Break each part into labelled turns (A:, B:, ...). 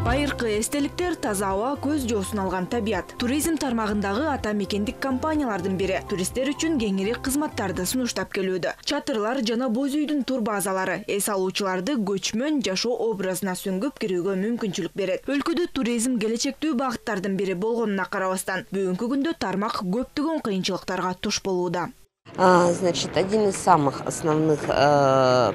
A: Байыркы эстеликтер, таза аба, көз жоосун алган табият. Туризм тармагындагы ата мекендик компаниялардын бири туристтер үчүн кеңири кызматтарды сунуштап келүүдө. Чатырлар жана боз үйдүн турбазалары эс алуучуларды көчмөн жашоо образына сүңгүп кирүүгө мүмкүнчүлүк берет. Өлкөдө туризм келечектүү багыттардын бири болгонуна карабастан, бүгүнкү күндө тармак көптөгөн кыйынчылыктарга туш болууда.
B: Значит, один из самых основных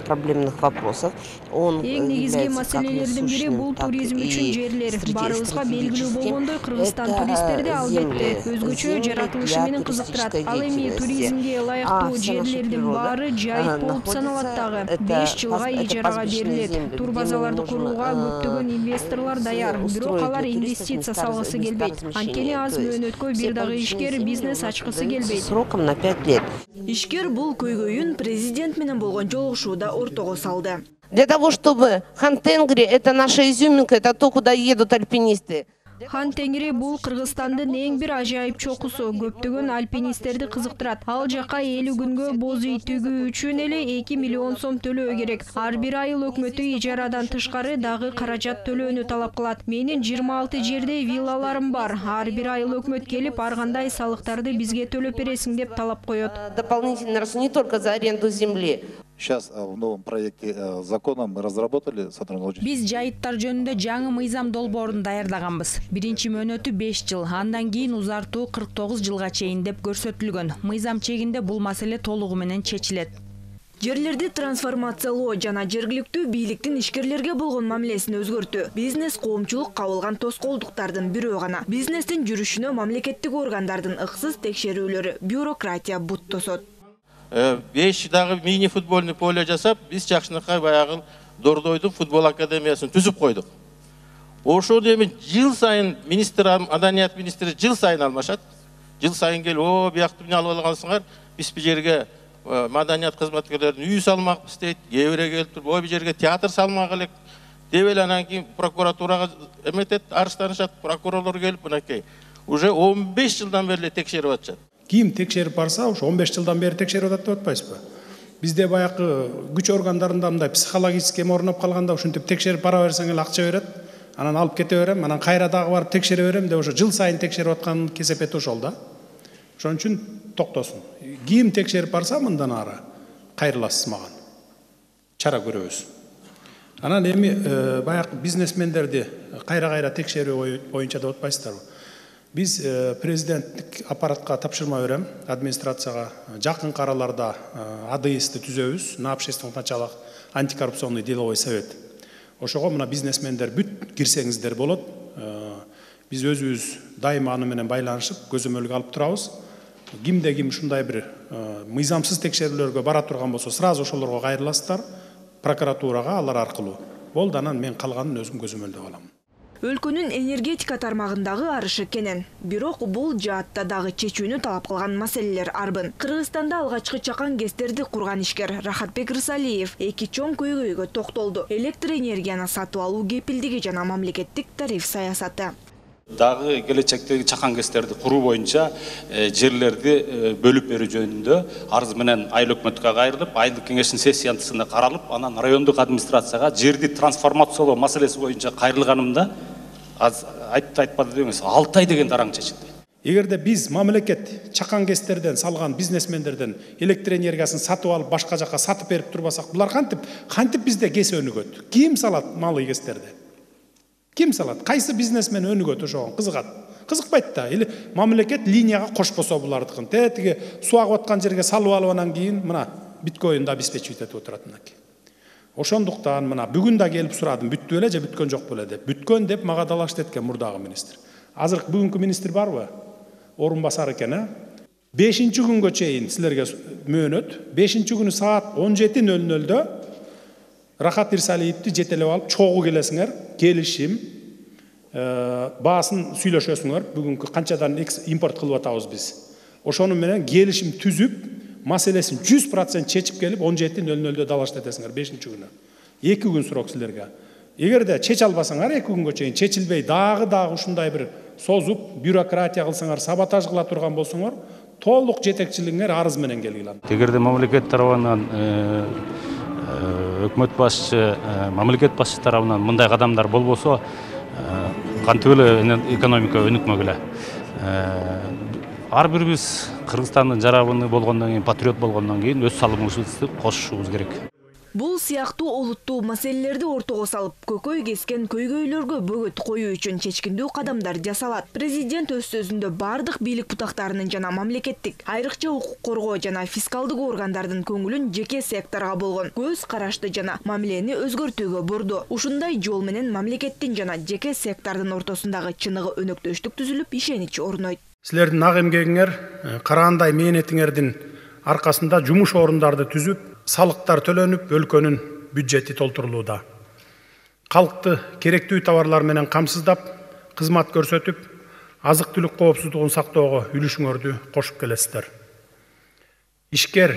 B: проблемных вопросов.
A: Эң негизги маселелердин бири бул туризм үчүн жерлер. Барыбызга белгилүү болгондой, Кыргызстан туристтерди албетте өзгөчө жаратылышы менен кызыктырат. Ал эми туризмге ылайыктуу жерлердин баары жайыт болуп саналат дагы. 5 жылга ижарага берилет. Турбазаларды курууга көптөгөн инвесторлор даяр, бирок алар инвестиция салгысы келбейт. Анткени аз мөөнөткө бир дагы ишкер бизнес ачкысы келбейт.
B: Сроком на 5 лет.
A: Ишкер бул көйгөйүн президент менен болгон жолугушууда ортого салды.
B: Для того, чтобы Хан-Тенгри — это наша изюминка, это то, куда едут альпинисты.
A: Хан-Тенгри бул Кыргызстандын эң бир ажайып чокусу, көптөгөн альпинисттерди кызыктырат. Ал жака 50 күнгө боз үй тигүү үчүн эле 2 миллион сом төлөө керек. Ар бир айыл өкмөтү ижарадан тышкары дагы каражат төлөөнү талап кылат. Менин 26 жерде виллаларым бар. Ар бир айыл өкмөт келип, ар кандай салыктарды бизге төлөп бересиң деп талап коет.
B: Дополнительный расход не только за аренду земли.
C: Сейчас в новом проекте закона мы разработали сотрудничество.
D: Биз жайыттар жөнүндө жаңы мыйзам долбоорун даярдаганбыз. Биринчи мөөнөтү 5 жыл, андан кийин узартуу 49 жылга чейин деп көрсөтүлгөн. Мыйзам чегинде бул маселе толугу менен чечилет.
A: Жерлерди трансформациялоо жана жергиликтүү бийликтин ишкерлерге болгон мамилесин өзгөртүү бизнес коомчулук кабылган тоскоолдуктардын бирөө гана. Бизнестин жүрүшүнө мамлекеттик органдардын ыксыз текшерүүлөрү, бюрократия бут тосот.
E: 5 дагы мини футбольный поле жасап, биз Жакшынакай баягы Дордойдун футбол академиясын түзүп койдук. Ошол эми жыл сайын маданият министри жыл сайын алмашат. Жыл сайын келип, биякты эмне алып алгансыңар? Биз бу жерге маданият кызматкерлердин үй салмакпыз дейт. Кээ бири келип туруп, бу жерге театр салмак элек деп эле анан кийин прокуратурага эметет, арызданышат, прокурорлор келип мынакей. Уже 15 жылдан бери текшерип атышат.
F: Ким текшерип барса, ушу 15 жылдан бери текшерип атат деп атпайсызбы? Бизде баягы күч органдарында мындай психологический орноп калганда ушинтип текшерип бара берсең эле акча берет, анан алып кете берем, анан кайра дагы барып текшере берем деп ошо жыл сайын текшерип аткан кесепети ошол да. Ошон үчүн токтосун. Ким текшерип барса мындан ары кайрыласыз маган. Чара көрөбүз. Анан эми баягы бизнесмендерди кайра текшерүү боюнча деп атпайсыздарбы? Биз президенттик аппаратка тапшырма берем, администрацияга жакын араларда АДС-ди түзөбүз, на общественных началах антикоррупционный деловой совет. Ошого мына бизнесмендер бүт кирсеңиздер болот. Биз өзүбүз дайыма аны менен байланышып, көзөмөлгө алып турабыз. Кимде ким ушундай бир мыйзамсыз текшерүүлөргө бара турган болсо, сразу ошолорго кайрыласыздар, прокуратурага алар аркылуу. Болду, анан мен калганын өзүм көзөмөлдөп алам.
A: Өлкөнүн энергетика тармагындагы арышы кенен. Бирок бул жаатта дагы чечүүнү талап кылган маселелер арбын. Кыргызстанда алгачкы чакан гэстерди курган ишкер Рахатбек Рысалиев эки чоң көйгөйгө токтолду. Электр энергияны сатып алуу кепилдиги жана мамлекеттик тариф саясаты.
G: Дагы келечектеги чакан гэстерди куруу боюнча жерлерди бөлүп берүү жөнүндө арыз менен айыл өкмөткө кайрылып, айылдык кеңештин сессиясында каралып, анан райондук администрацияга жерди трансформациялоо маселеси боюнча кайрылганымда айтпады деңиз 6 ай деген дараң чечилди.
F: Эгерде биз мамлекет чакан гэстерден салган бизнесмендерден электр энергиясын сатып алып башка жака сатып берип турбасак, булар кантип бизде гэс өнүгөт? Ким салат малый гэстерди? Ким салат? Кайсы бизнесмен өнүгөт ошого? Кызыгат. Кызыкпайт да. Или мамлекет линияга кошпосо булардыкын. Тиги суу агып аткан жерге салып алып анан кийин мына биткоинди обеспечивать этип отурат мынакей. Ошондуктан мына бүгүн да келип сурадым, бүттү беле же бүткөн жок беле деп. Бүткөн деп мага далашт эткен мурдагы министр. Азыр бүгүнкү министр барбы? Орун басар экен, 5-нчи күнгө чейин силерге мөөнөт. 5-нчи күнү саат 17:00-дө Рахат Ирсалиевди жетелеп алып чогуу келесиңер, келишим, баасын сүйлөшөсүңөр. Бүгүнкү канчадан импорт кылып атабыз биз. Ошону менен келишим түзүп, маселесин 100% чечип келип 17:00-дө далашт этесиңер 5-нчи күнү. 2 күн срок силерге. Эгерде чече албасаңар 2 күнгө чейин чечилбей дагы ушундай бир созуп, бюрократия кылсаңар, саботаж кыла турган болсоңор, толук жетекчилигиңер арыз менен келгиле.
G: Эгерде мамлекет тарабынан өкмөт башчы, мамлекет башчы тарабынан мындай кадамдар болбосо, кантип эле экономика өнүкмөгүлө. Ар бирибиз Кыргызстандын жарабыны болгондон кийин, патриот болгондон кийин өз салымыбызды кошушубуз керек.
A: Бул сыяктуу олуттуу маселелерди ортого салып, көкөй кескен көйгөйлөргө бөгөт коюу үчүн чечкиндүү кадамдар жасалат. Президент өз сөзүндө бардык бийлик бутактарынын жана мамлекеттик, айрыкча укук коргоо жана фискалдык органдардын көңүлүн жеке секторго болгон көз карашты жана мамилени өзгөртүүгө бурду. Ушундай жол менен мамлекеттин жана жеке сектордун ортосундагы чыныгы өнөктөштүк түзүлүп, ишенич орнойт.
F: Силердин ак эмгегиңер, караандай мээнетиңердин аркасында жумуш орундарды түзүп, салыктар төлөнүп, өлкөнүн бюджети толтурулууда. Калкты керектүү товарлар менен камсыздап, кызмат көрсөтүп, азык-түлүк коопсуздугун сактоого үлүшүңөрдү кошуп келесиздер. Ишкер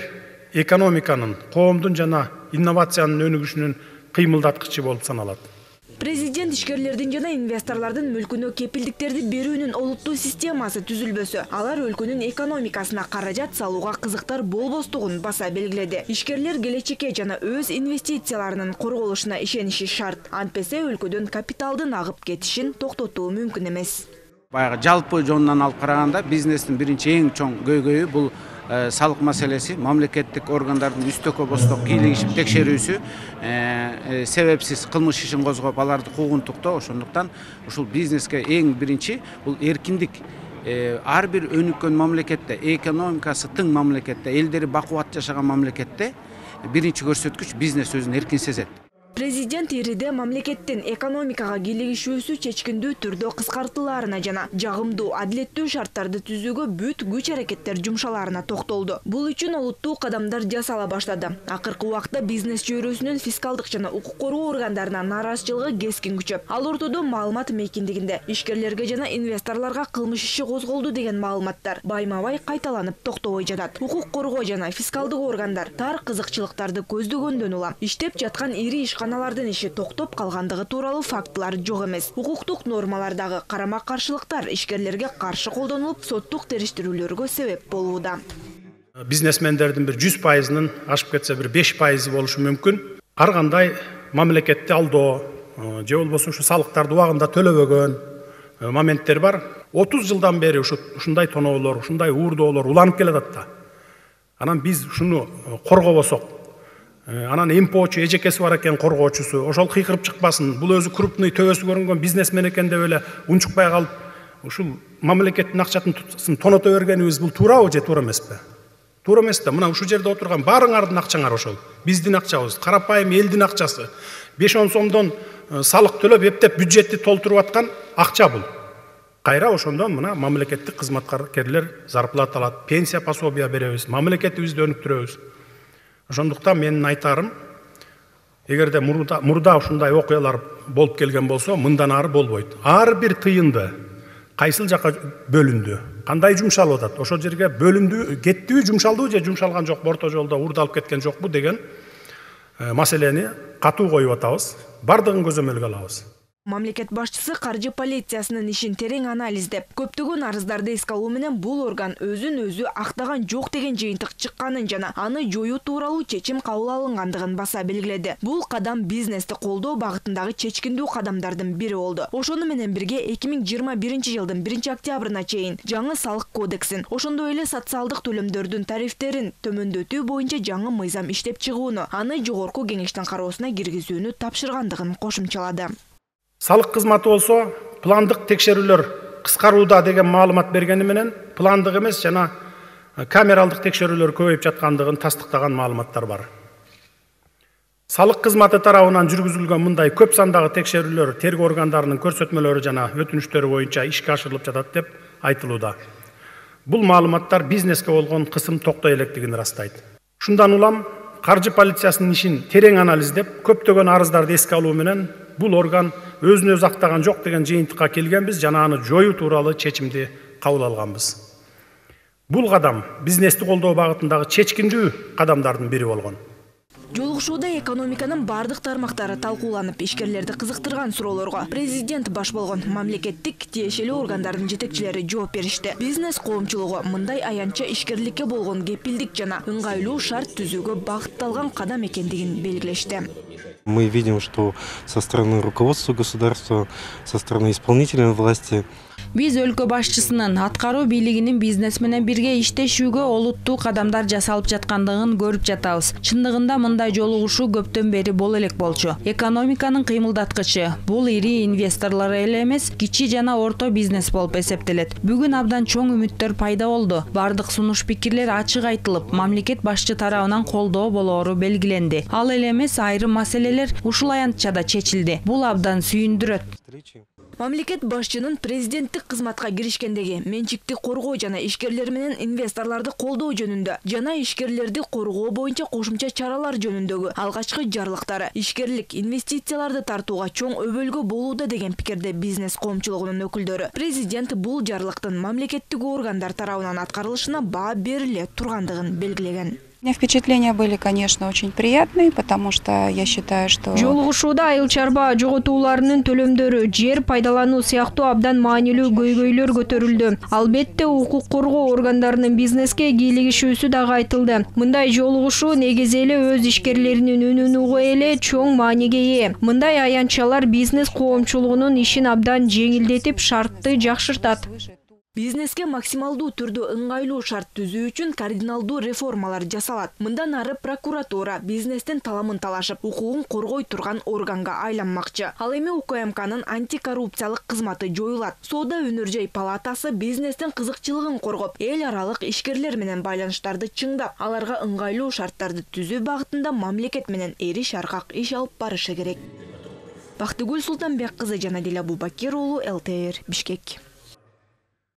F: экономиканын, коомдун жана инновациянын өнүгүшүнүн кыймылдаткычы болуп саналат.
A: Президент ишкерлердин жана инвесторлордун мүлкүнө кепилдиктерди берүүнүн олуттуу системасы түзүлбөсө, алар өлкөнүн экономикасына каражат салууга кызыктар болбостугун баса белгиледи. Ишкерлер келечекке жана өз инвестицияларынын корголушуна ишениши шарт. Антпесе өлкөдөн капиталдын агып кетишин токтотуу мүмкүн эмес.
H: Баягы жалпы жонунан алып караганда бизнестин биринчи эң чоң көйгөйү бул салык маселеси, мамлекеттик органдардын үстөккө босток кийлигишип текшерүүсү, себепсиз кылмыш ишин козгоп аларды куугунтуктоо. Ошондуктан ушул бизнеске эң биринчи бул эркиндик. Ар бир өнүккөн мамлекетте, экономикасы тың мамлекетте, элдери бакубат жашаган мамлекетте биринчи көрсөткүч бизнес өзүн эркин сезет.
A: Президент ириде мамлекеттин экономикага кийлигишүүсү чечкиндүү түрдө кыскартылаарына жана жагымдуу, адилеттүү шарттарды түзүүгө бүт күч аракеттер жумшалаарына токтолду. Бул үчүн олуттуу кадамдар жасала баштады. Акыркы убакта бизнес чөйрөсүнүн фискалдык жана укук коргоо органдарына нааразычылыгы кескин күчөп, ал ортодо маалымат мейкиндигинде ишкерлерге жана инвесторлорго кылмыш иши козголду деген маалыматтар байма-бай кайталанып токтобой жатат. Укук коргоо жана фискалдык органдар тар кызыкчылыктарды көздөгөндөн улам иштеп жаткан ири ишканалардын иши токтоп калгандыгы тууралуу фактылар жок эмес. Укуктук нормалардагы карама-каршылыктар ишкерлерге каршы колдонулуп, соттук териштирүүлөргө себеп болууда.
F: Бизнесмендердин бир 100%-нын ашып кетсе бир 5% болушу мүмкүн. Ар кандай мамлекетти алдоо же болбосо ушу салыктарды убагында төлөбөгөн моменттер бар. 30 жылдан бери ушундай тоноолор, ушундай уурдоолор уланып келатат да. Анан биз ушуну коргобосок, анан эмпоочу эжекеси бар экен коргоочусу, ошол кыйкырып чыкпасын, бул өзү крупный төбөсү көрүнгөн бизнесмен экен деп эле унчукпай калып, ушул мамлекеттин акчасын тоното бергенибиз бул туурабы же туура эмеспи? Туура эмес да. Мына ушул жерде отурган баарыңардын акчаңар ошол. Биздин акчабыз, карапайым элдин акчасы. 5-10 сомдон салык төлөп, эптеп бюджетти толтуруп аткан акча бул. Кайра ошондон мына мамлекеттик кызматкерлер зарплата алат, пенсия пособия беребиз, мамлекетибизди өнүктүрөбүз. Ошондуктан менин айтарым, эгерде мурда ушундай окуялар болуп келген болсо, мындан ары болбойт. Ар бир тыйынды кайсыл жака бөлүндү, кандай жумшалып атат, ошол жерге бөлүндү, кеттиби, жумшалдыбы же жумшалган жокпу, орто жолдо уурдалып кеткен жокпу деген маселени катуу коюп атабыз. Бардыгын көзөмөлгө алабыз.
A: Мамлекет башчысы каржы полициясынын ишин терең анализдеп, көптөгөн арыздарды эске алуу менен бул орган өзүн өзү актаган жок деген жыйынтык чыкканын жана аны жоюу тууралуу чечим кабыл алынгандыгын баса белгиледи. Бул кадам бизнести колдоо багытындагы чечкиндүү кадамдардын бири болду. Ошону менен бирге 2021 жылдын 1 октябрына чейин жаңы салык кодексин, ошондой эле социалдык төлөмдөрдүн тарифтерин төмөндөтүү боюнча жаңы мыйзам иштеп чыгууну, аны жогорку кеңештин кароосуна киргизүүнү тапшыргандыгын кошумчалады.
F: Салык кызматы болсо, пландык текшерүүлөр кыскарууда деген маалымат бергени менен, пландык эмес жана камералдык текшерүүлөр көбөйүп жаткандыгын тастыктаган маалыматтар бар. Салык кызматы тарабынан жүргүзүлгөн мындай көп сандагы текшерүүлөр тергөө органдарынын көрсөтмөлөрү жана өтүнүчтөрү боюнча ишке ашырылып жатат деп айтылууда. Бул маалыматтар бизнеске болгон кысым токтой электигин ырастайт. Ушундан улам каржы полициясынын ишин терең анализдеп, көптөгөн арыздарды эске алуу менен бул орган өзүн өзү актаган жок деген жыйынтыкка келгенбиз жана аны жоюу тууралуу чечимди кабыл алганбыз. Бул кадам бизнести колдоо багытындагы чечкиндүү кадамдардын бири болгон.
A: Жолугушууда экономиканын бардык тармактары талкууланып, ишкерлерди кызыктырган суроолорго президент баш болгон мамлекеттик тиешелүү органдардын жетекчилери жооп беришти. Бизнес коомчулугу мындай аянтча ишкерликке болгон кепилдик жана ыңгайлуу шарт түзүүгө багытталган кадам экендигин белгилешти.
I: Мы видим, что со стороны руководства государства, со стороны исполнительной власти
D: Биз өлкө башчысынын, аткаруу бийлигинин бизнес менен бирге иштешүүгө олуттуу кадамдар жасалып жаткандыгын көрүп жатабыз. Чындыгында мындай жолугушуу көптөн бери боло элек болчу. Экономиканын кыймылдаткычы. Бул ири инвесторлор эле эмес, кичи жана орто бизнес болуп эсептелет. Бүгүн абдан чоң үмүттөр пайда болду. Бардык сунуш пикирлер ачык айтылып, мамлекет башчы тарабынан колдоо болоору белгиленди. Ал эле эмес, айрым маселелер ушул аянтчада чечилди. Бул абдан сүйүндүрөт.
A: Мамлекет башчынын президенттик кызматка киришкендеги менчикти коргоо жана ишкерлер менен инвесторлорду колдоо жөнүндө жана ишкерлерди коргоо боюнча кошумча чаралар жөнүндөгү алгачкы жарлыктары ишкерлик инвестицияларды тартууга чоң өбөлгө болууда деген пикирде бизнес коомчулугунун өкүлдөрү. Президент бул жарлыктын мамлекеттик органдар тарабынан аткарылышына баа бериле тургандыгын белгилеген.
J: У меня впечатления были, конечно, очень приятные, потому что я считаю, что...
A: Жолугушууда айыл чарба жоготууларынын төлөмдөрү, жер пайдалануу сыяктуу абдан маанилүү көйгөйлөр көтөрүлдү. Албетте укук коргоо органдарынын бизнеске кийлигишүүсү дагы айтылды. Мындай жолугушуу негизи эле өз ишкерлеринин үнүн угуу эле чоң мааниге ээ. Мындай аянтчалар бизнес коомчулугунун ишин абдан жеңилдетип, шартты жакшыртат. Бизнеске максималдуу түрдө ыңгайлуу шарт түзүү үчүн кардиналдуу реформалар жасалат. Мындан ары прокуратура бизнестин таламын талашып, укугун коргой турган органга айланмакчы. Ал эми УКМКнын антикоррупциялык кызматы жоюлат. Соода өнөр жай палатасы бизнестин кызыкчылыгын коргоп, эл аралык ишкерлер менен байланыштарды чыңдап, аларга ыңгайлуу шарттарды түзүү багытында мамлекет менен эриш аркак иш алып барышы керек. Бактыгүл Султанбек кызы, Жанадил Абубакир уулу, ЛТР, Бишкек.